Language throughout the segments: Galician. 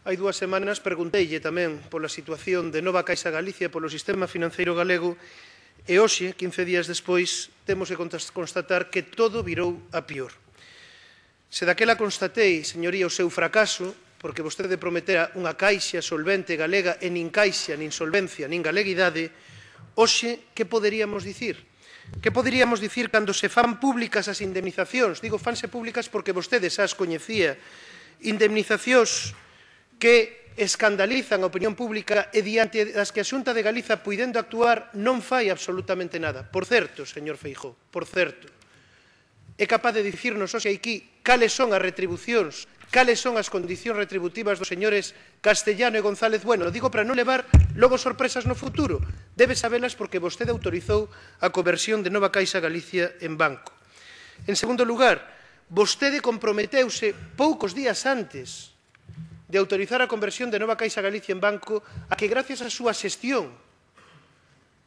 Hai 2 semanas pregunteille tamén pola situación de Nova Caixa Galicia e polo sistema financeiro galego e hoxe, 15 días despois, temos que constatar que todo virou a pior. Se daquela constatei, señoría, o seu fracaso, porque vostede prometera unha caixa solvente galega e nin caixa, nin solvencia, nin galeguidade, hoxe, que poderíamos dicir? Que poderíamos dicir cando se fan públicas as indemnizacións? Digo, fanse públicas porque vostede xa as coñecía. Indemnizacións que escandalizan a opinión pública e diante das que a Xunta de Galiza, puidendo actuar, non fai absolutamente nada. Por certo, señor Feijóo, por certo, é capaz de dicirnos hoxe aquí cales son as retribucións, cales son as condicións retributivas dos señores Castellano e González Bueno. Lo digo para non levar logo sorpresas no futuro. Debe sabelas porque vostede autorizou a conversión de Nova Caixa Galicia en banco. En segundo lugar, vostede comprometeuse poucos días antes de autorizar a conversión de Nova Caixa Galicia en banco a que, gracias á súa xestión,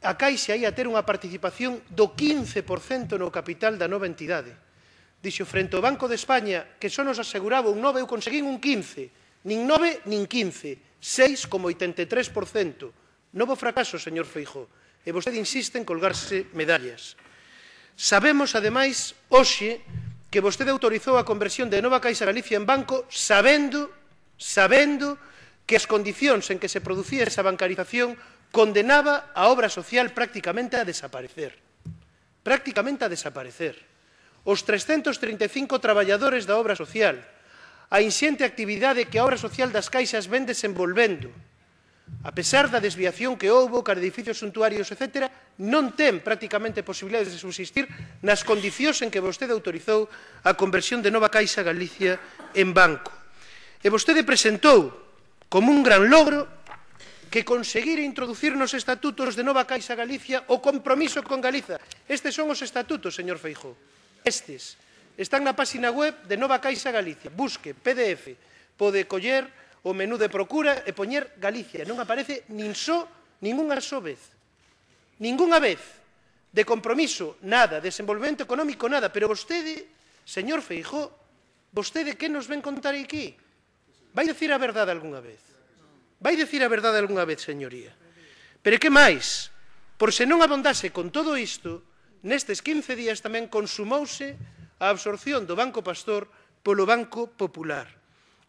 a Caixa ia ter unha participación do 15% no capital da nova entidade. Dixo, frente ao Banco de España, que só nos aseguraba un 9, eu conseguín un 15, nin 9 nin 15, 6,83%. Novo fracaso, señor Feijóo, e vostede insiste en colgarse medallas. Sabemos, ademais, hoxe, que vostede autorizou a conversión de Nova Caixa Galicia en banco sabendo que as condicións en que se producía esa bancarización condenaba a obra social prácticamente a desaparecer. Prácticamente a desaparecer. Os 335 traballadores da obra social, a inxente actividade que a obra social das caixas ven desenvolvendo, a pesar da desviación que houbo, cara edificios suntuarios, etc., non ten prácticamente posibilidades de subsistir nas condicións en que vostede autorizou a conversión de Nova Caixa Galicia en banco. E vostede presentou como un gran logro que conseguir introducir nos estatutos de Nova Caixa Galicia o compromiso con Galiza. Estes son os estatutos, señor Feijóo. Estes están na páxina web de Nova Caixa Galicia. Busque PDF, pode coller o menú de procura e poñer Galicia. Non aparece ningunha só vez. Ningunha vez de compromiso, nada, desenvolvemento económico, nada. Pero vostede, señor Feijóo, vostede que nos ven contar aquí? Vai dicir a verdade algunha vez? Vai dicir a verdade algunha vez, señoría? Pero que máis? Por se non abondase con todo isto, nestes 15 días tamén consumouse a absorción do Banco Pastor polo Banco Popular.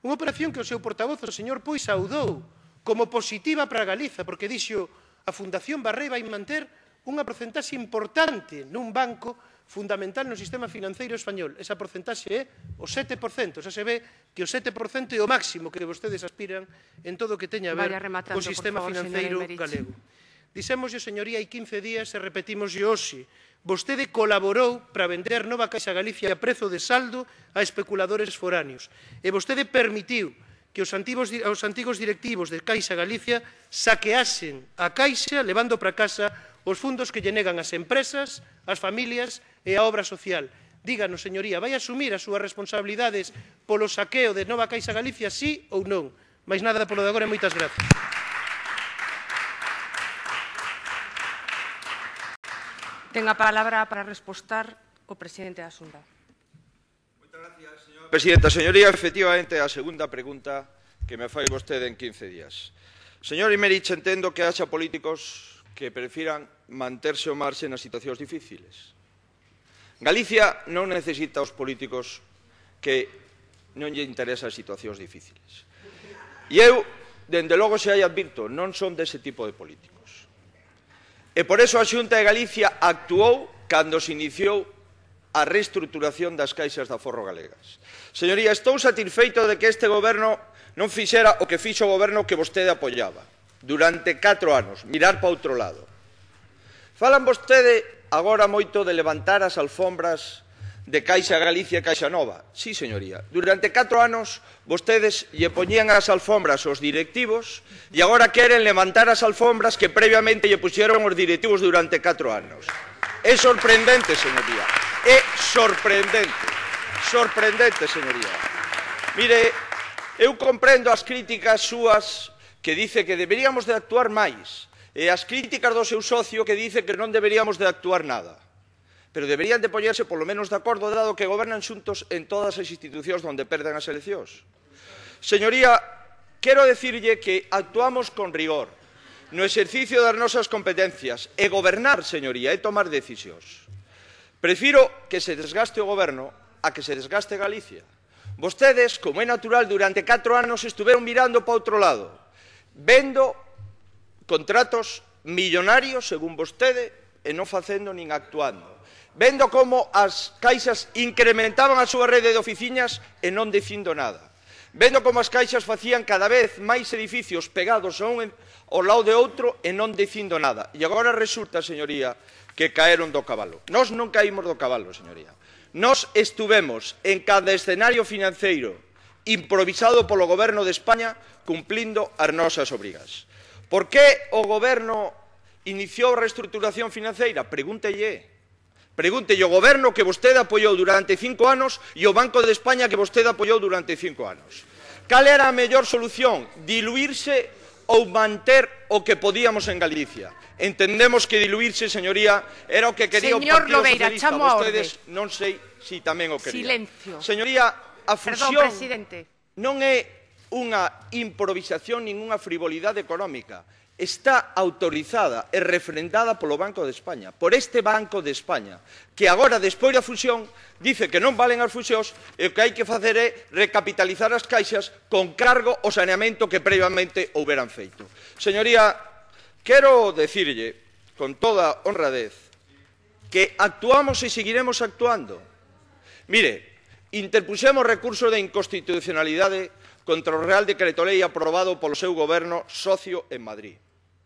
Unha operación que o seu portavoz, o señor Pui, saudou como positiva para Galiza, porque dixo a Fundación Barré vai manter unha porcentaxe importante nun banco fundamental no sistema financeiro español. Esa porcentaxe é o 7%. Xa se ve que o 7% é o máximo que vostedes aspiran en todo o que teña a ver co sistema financeiro galego. Dixémoslle, señoría, hai 15 días e repetímoslle hoxe. Vostede colaborou para vender Nova Caixa Galicia a prezo de saldo a especuladores foráneos. E vostede permitiu que os antigos directivos de Caixa Galicia saqueasen a Caixa levando para casa os fundos que lle negan as empresas, as familias e a obra social. Díganos, señoría, vai asumir as súas responsabilidades polo saqueo de Nova Caixa Galicia, sí ou non? Mais nada polo de agora e moitas gracias. Ten a palabra para respostar o presidente da Xunta. Moitas gracias, señora presidenta. Señoría, efectivamente, a segunda pregunta que me fai vostede en 15 días. Señor Imerich, entendo que haxa políticos que prefiran manterse ao marxe nas situacións difíciles. Galicia non necesita os políticos que non lle interesan as situacións difíciles. E eu, dende logo, se hai advirto, non son dese tipo de políticos. E por eso a Xunta de Galicia actuou cando se iniciou a reestruturación das caixas de aforro galegas. Señoría, estou satisfeito de que este goberno non fixera o que fixo o goberno que vostede apoiaba durante 4 anos, mirar para outro lado. Falan vostede agora moito de levantar as alfombras de Caixa Galicia e Caixa Nova. Sí, señoría. Durante 4 anos vostedes lle poñían as alfombras aos directivos e agora queren levantar as alfombras que previamente lle puxeron os directivos durante 4 anos. É sorprendente, señoría. É sorprendente. Sorprendente, señoría. Mire, eu comprendo as críticas súas que dice que deberíamos de actuar máis, e as críticas do seu socio que dice que non deberíamos de actuar nada. Pero deberían de poñerse polo menos de acordo, dado que gobernan xuntos en todas as institucións onde perden as eleccións. Señoría, quero dicirlle que actuamos con rigor no exercicio das nosas competencias e gobernar, señoría, é tomar decisións. Prefiro que se desgaste o goberno a que se desgaste Galicia. Vostedes, como é natural, durante 4 anos estuveron mirando para outro lado, vendo contratos millonarios, según vostede, e non facendo nin actuando. Vendo como as caixas incrementaban a súa rede de oficinas e non dicindo nada. Vendo como as caixas facían cada vez máis edificios pegados a un ao lado de outro e non dicindo nada. E agora resulta, señoría, que caeron do cabalo. Nós non caímos do cabalo, señoría. Nós estuvemos en cada escenario financeiro improvisado polo Goberno de España cumplindo as nosas obrigas. Por que o Goberno iniciou a reestruturación financeira? Pregúntelle o Goberno que vostede apoiou durante 5 anos e o Banco de España que vostede apoiou durante 5 anos. Cal era a mellor solución? Diluirse ou manter o que podíamos en Galicia? Entendemos que diluirse, señoría, era o que quería o Partido Socialista. Vostedes non sei se tamén o querían. Silencio. Señoría, a fusión non é unha improvisación nin unha frivolidade económica. Está autorizada e refrendada polo Banco de España, por este Banco de España, que agora, despois da fusión, dice que non valen as fusións e o que hai que facer é recapitalizar as caixas con cargo ao saneamento que previamente houberan feito. Señoría, quero dicirlle, con toda honradez, que actuamos e seguiremos actuando. Mire, interpuxemos recurso de inconstitucionalidade contra o Real Decreto Lei aprobado polo seu goberno socio en Madrid.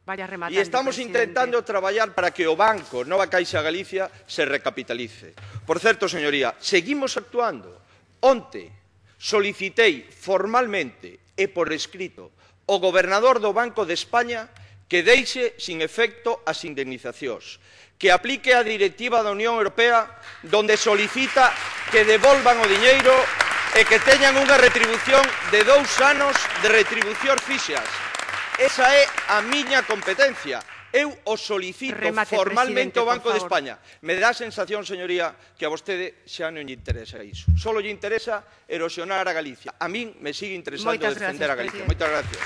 E estamos intentando traballar para que o banco Nova Caixa Galicia se recapitalice. Por certo, señoría, seguimos actuando. Onte solicitei formalmente e por escrito ao gobernador do Banco de España que deixe sin efecto as indemnizacións, que aplique a directiva da Unión Europea donde solicita que devolvan o diñeiro e que teñan unha retribución de 2 anos de retribucións fixas. Esa é a miña competencia. Eu o solicito formalmente ao Banco de España. Me dá a sensación, señoría, que a vostede xa non lle interesa iso. Só lle interesa erosionar a Galicia. A min me sigue interesando defender a Galicia. Moitas gracias.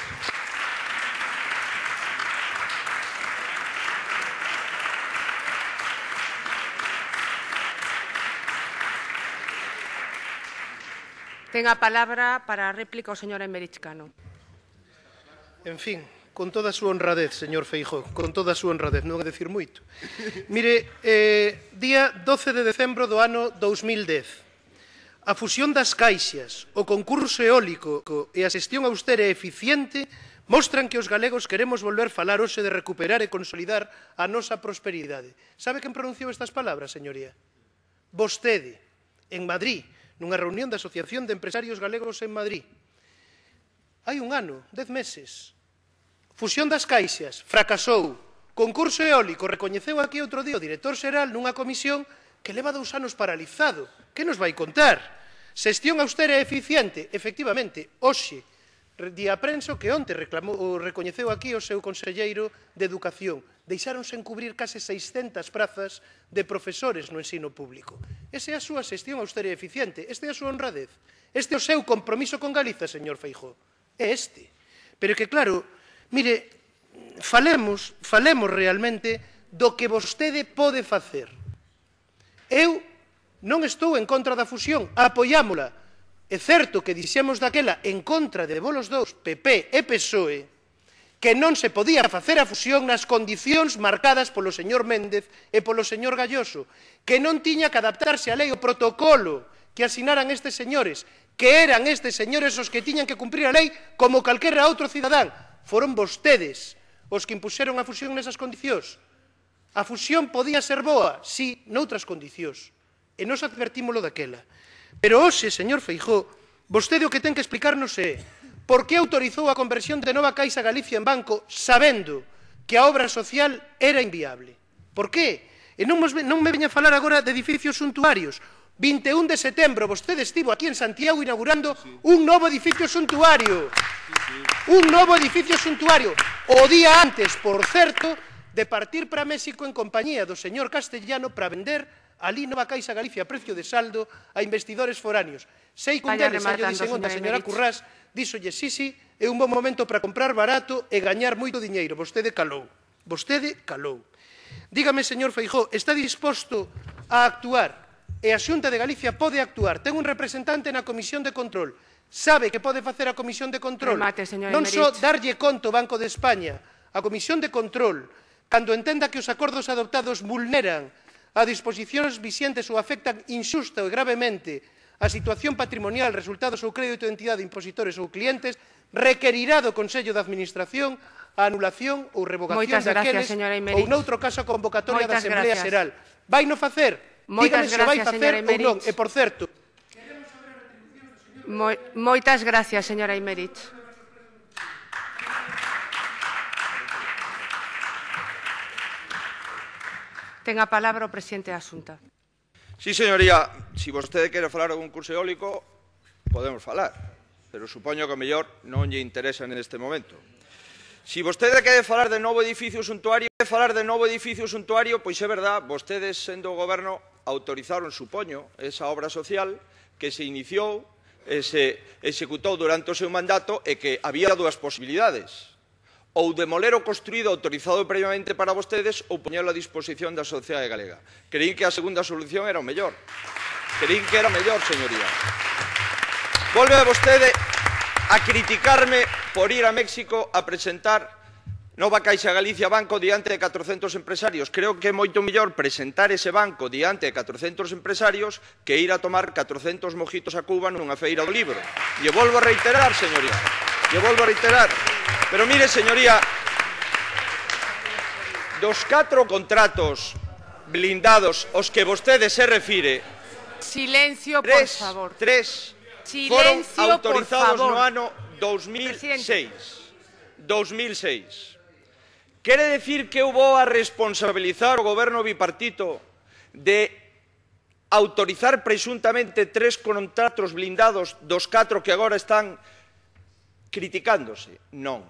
Ten a palabra para a réplica o señor Emerich Cano. En fin, con toda a súa honradez, señor Feijóo, con toda a súa honradez, non é dicir moito. Mire, día 12 de decembro do ano 2010, a fusión das caixas, o concurso eólico e a xestión austera e eficiente mostran que os galegos queremos volver falar hoxe de recuperar e consolidar a nosa prosperidade. Sabe quen pronunciou estas palabras, señoría? Vostede, en Madrid, nunha reunión da Asociación de Empresarios Galegos en Madrid. Hai un ano, 10 meses. Fusión das caixas, fracasou. Concurso eólico, recoñeceu aquí outro día o director xeral nunha comisión que leva 2 anos paralizado. Que nos vai contar? Xestión austera e eficiente, efectivamente, hoxe, día prenso que onte recoñeceu aquí o seu conselleiro de Educación. Deixáronse en cubrir case 600 prazas de profesores no ensino público. Esa é a súa xestión austera e eficiente. Esta é a súa honradez. Este é o seu compromiso con Galiza, señor Feijóo. É este. Pero que, claro, mire, falemos realmente do que vostede pode facer. Eu non estou en contra da fusión, apoiámola. É certo que dixemos daquela en contra de bolos dous, PP e PSOE, que non se podía facer a fusión nas condicións marcadas polo señor Méndez e polo señor Galloso, que non tiña que adaptarse á lei o protocolo que asinaran estes señores, que eran estes señores os que tiñan que cumprir a lei como calquera outro cidadán. Foron vostedes os que impuxeron a fusión nesas condicións. A fusión podía ser boa, sí, noutras condicións. E nos advertímolo daquela. Pero hoxe, señor Feijóo, vostede o que ten que explicarnos é por que autorizou a conversión de Nova Caixa Galicia en banco sabendo que a obra social era inviable. Por que? E non me veña a falar agora de edificios suntuarios. 21 de setembro, vostede estivo aquí en Santiago inaugurando un novo edificio suntuario. Un novo edificio suntuario. O día antes, por certo, de partir para México en compañía do señor Castellano para vender ali Nova Caixa Galicia a precio de saldo a investidores foráneos. Sei que un deles, xa lle dixen onte a señora Currás, díxolle sí, é un bon momento para comprar barato e gañar moito diñeiro. Vostede calou. Vostede calou. Dígame, señor Feijóo, está disposto a actuar? E a Xunta de Galicia pode actuar. Ten un representante na Comisión de Control. Sabe que pode facer a Comisión de Control. Remate, señor Non Emerich. só darlle conto ao Banco de España, a Comisión de Control, cando entenda que os acordos adoptados vulneran a disposicións vixentes ou afectan inxusta ou gravemente a situación patrimonial, resultados ou crédito de entidade, impositores ou clientes, requerirá do Consello de Administración a anulación ou revocación daqueles ou, noutro caso, a convocatoria da Asamblea Xeral. Vai no facer? Dígame se vai facer ou non. E, por certo... Moitas gracias, señora Imerich. Ten a palabra o presidente da Xunta. Sí, señoría, se vostede quere falar de un curso eólico, podemos falar, pero supoño que o mellor non lle interesa neste momento. Se vostede quere falar de novo edificio suntuario, pois é verdad, vostedes, sendo o goberno, autorizaron, supoño, esa obra social que se iniciou e se executou durante o seu mandato e que había dúas posibilidades. Ou demoler o construído autorizado previamente para vostedes ou poñelo a disposición da sociedade galega. Creín que a segunda solución era o mellor. Señoría. Volve vostede a criticarme por ir a México a presentar Nova Caixa Galicia Banco diante de 400 empresarios. Creo que é moito mellor presentar ese banco diante de 400 empresarios que ir a tomar 400 mojitos a Cuba nunha feira do libro. E volvo a reiterar, señoría. Pero mire, señoría, dos 4 contratos blindados aos que vostede se refire, Silencio, por favor. Tres foron autorizados no ano 2006. Quere decir que eu vou a responsabilizar o goberno bipartito de autorizar presuntamente 3 contratos blindados dos 4 que agora están criticándose? Non.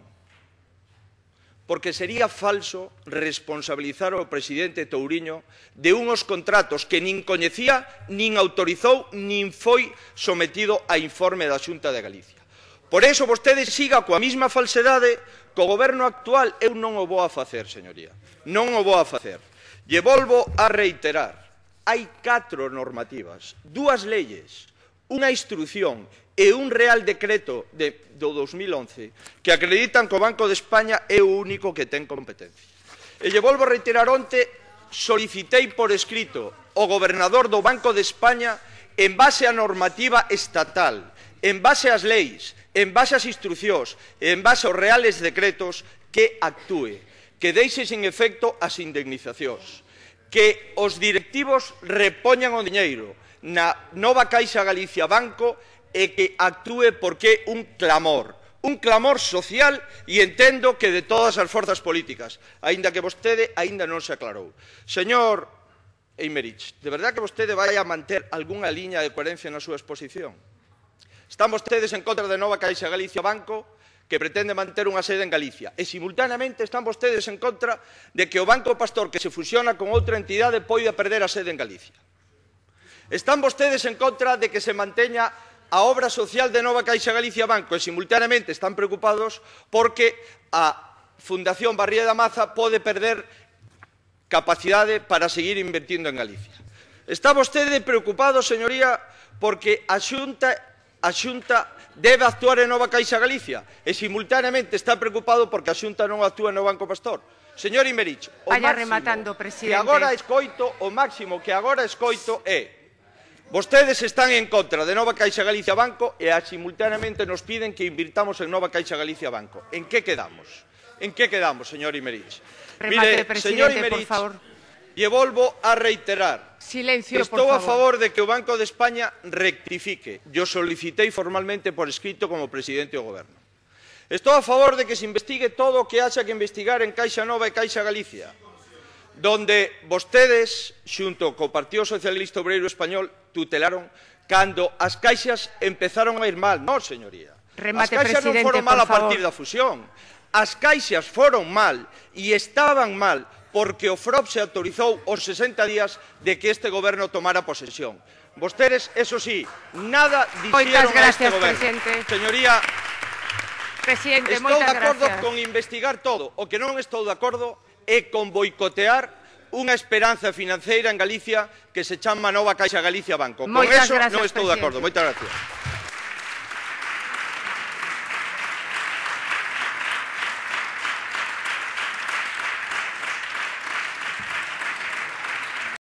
Porque sería falso responsabilizar ao presidente Touriño de unhos contratos que nin coñecía, nin autorizou, nin foi sometido a informe da Xunta de Galicia. Por iso vostede siga coa mesma falsedade. Co goberno actual eu non o vou a facer, señoría. Non o vou a facer. E volvo a reiterar. Hai 4 normativas, 2 leyes, unha instrución e un real decreto do 2011 que acreditan que o Banco de España é o único que ten competencia. E lle volvo a reiterar, onte solicitei por escrito ao gobernador do Banco de España, en base á normativa estatal, en base ás leis, en base ás instrucións, en base aos reales decretos, que actúe, que deixe sin efecto as indemnizacións, que os directivos repoñan o diñeiro na Nova Caixa Galicia Banco e que actúe porque é un clamor social e entendo que de todas as forzas políticas, aínda que vostede aínda non se aclarou. Señor Imerich, de verdade que vostede vai a manter algunha liña de coherencia na súa exposición? Están vostedes en contra de Nova Caixa Galicia Banco, que pretende manter unha sede en Galicia, e simultaneamente están vostedes en contra de que o Banco Pastor, que se fusiona con outra entidade, poida perder a sede en Galicia. Están vostedes en contra de que se manteña a obra social de Nova Caixa Galicia Banco, e simultaneamente están preocupados porque a Fundación Barría da Maza pode perder capacidade para seguir invertindo en Galicia. Está vostede preocupado, señoría, porque a Xunta debe actuar en Nova Caixa Galicia e simultaneamente está preocupado porque a Xunta non actúa no Banco Pastor. Señor Imerich, o máximo que agora escoito é: vostedes están en contra de Nova Caixa Galicia Banco e simultaneamente nos piden que invirtamos en Nova Caixa Galicia Banco. En que quedamos? Señor Imerich? Remate, presidente, por favor. E volvo a reiterar. Silencio, por favor. Estou a favor de que o Banco de España rectifique. Yo solicitei formalmente por escrito como presidente do Goberno. Estou a favor de que se investigue todo o que haxa que investigar en Caixa Nova e Caixa Galicia, donde vostedes, xunto co Partido Socialista Obreiro Español, tutelaron cando as caixas empezaron a ir mal. Non, señoría. Remate, as caixas non foron mal a partir da fusión. As caixas foron mal e estaban mal porque o FROB se autorizou os 60 días de que este goberno tomara posesión. Vostedes, eso sí, nada dixeron a este goberno. Presidente. Presidente, estou de moitas acordo gracias. con investigar todo. O que non estou de acordo é con boicotear unha esperanza financeira en Galicia que se chama Nova Caixa Galicia Banco. Con Moitas eso gracias, non estou de acordo. presidente. Moitas gracias.